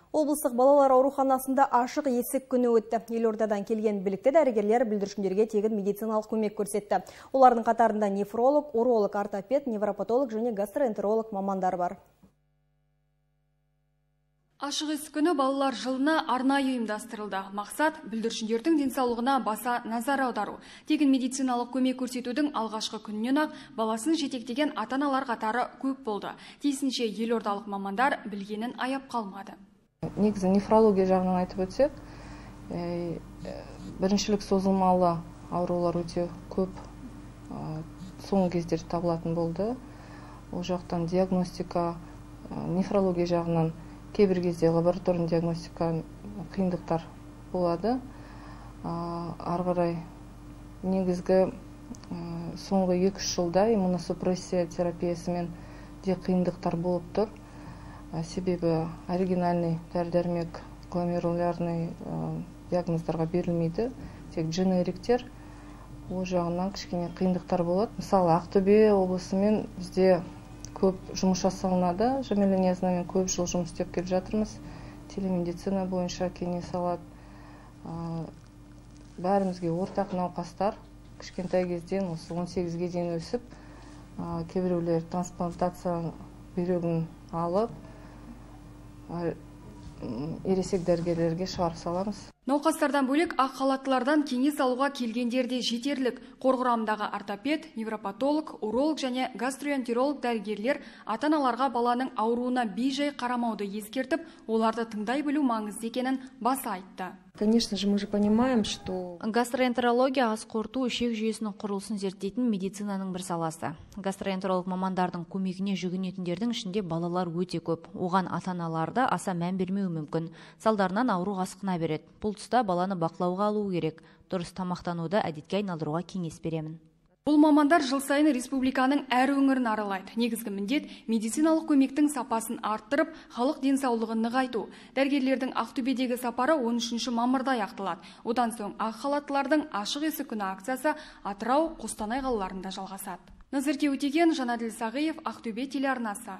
Облыстық балалар ауруханасында ашық есік күні өтті. Елордадан келген білікті дәрігерлер бүлдіршіндерге тегін медициналық көмек көрсетті. Олардың қатарында нефролог, уролог, ортопед, невропатолог және гастроэнтеролог мамандар бар. Ашық есік күні балалар жылына арнайы ұйымдастырылды. Мақсат бүлдіршіндердің денсаулығына баса назар аудару. Тегін медициналық көмек көрсетудің алғашқы күнінен-ақ баласын жетектеген ата-аналар қатары көп болды. Тиісінше елордалық мамандар білгенін аяп қалмады. Негізі нефрология жағынан айтып өтсек, біріншілік созылмалы аурулар өте көп соңғы кездері табылатын болды. Ол жақтан диагностика, нефрология жағынан кейбір кезде лабораторный диагностика қиындықтар болады. Ары қарай негізгі соңғы 2-3 жылда иммуносупрессия терапиясымен де қиындықтар болып тұр. Себебі оригинальный дәрі-дәрмек гломерулярный диагноздарға берілмейді, тек дженериктер. Ол жағынан кішкене қиындықтар болады. Мысалы, Ақтөбе облысымен бізде көп жұмыс жасалынады. Жамиля Ниязовнамен көп жыл жұмыс істеп келіп жатырмыз. Телемедицина бойынша кеңес алады. Бәрімізге ортақ науқастар кішкентай кезден осы 18-ге дейін өсіп, кейбіреулер трансплантация бүйрегін алып, ересек дәрігерлерге шығарып саламыз. Науқастардан бөлек ақ халаттылардан кеңес алуға келгендерде жетерлік. Қор құрамындағы ортопед, невропатолог, уролог және гастроэнтеролог дәрігерлер ата-аналарға баланың ауруына бей-жай қарамауды ескертіп, оларды тыңдай білу маңызды екенін баса айтты. Конечно же, мы же понимаем, что гастроэнтерология ас қорыту ішек жүйесінің құрылысын зерттейтін медицинаның бір саласы. Гастроэнтеролог мамандардың көмегіне жүгінетіндердің ішінде балалар өте көп. Оған ата-аналарды аса мән бермеуі мүмкін. Салдарынан ауру асқына береді. Бұл тұста баланы бақылауға алу керек. Дұрыс тамақтануды әдетке айналдыруға кеңес беремін. Бұл мамандар жыл сайын республиканың әр өңірін аралайды. Негізгі міндет медициналық көмектің сапасын арттырып, халық денсаулығын нығайту. Дәрігерлердің Ақтөбедегі сапары 13 мамырда аяқталады. Одан соң ақ халаттылардың ашық есік күні акциясы Атырау, Қостанай қалаларында жалғасады. Назерке Өтеген, Жанаділ Сағиев, Ақтөбе телеарнасы.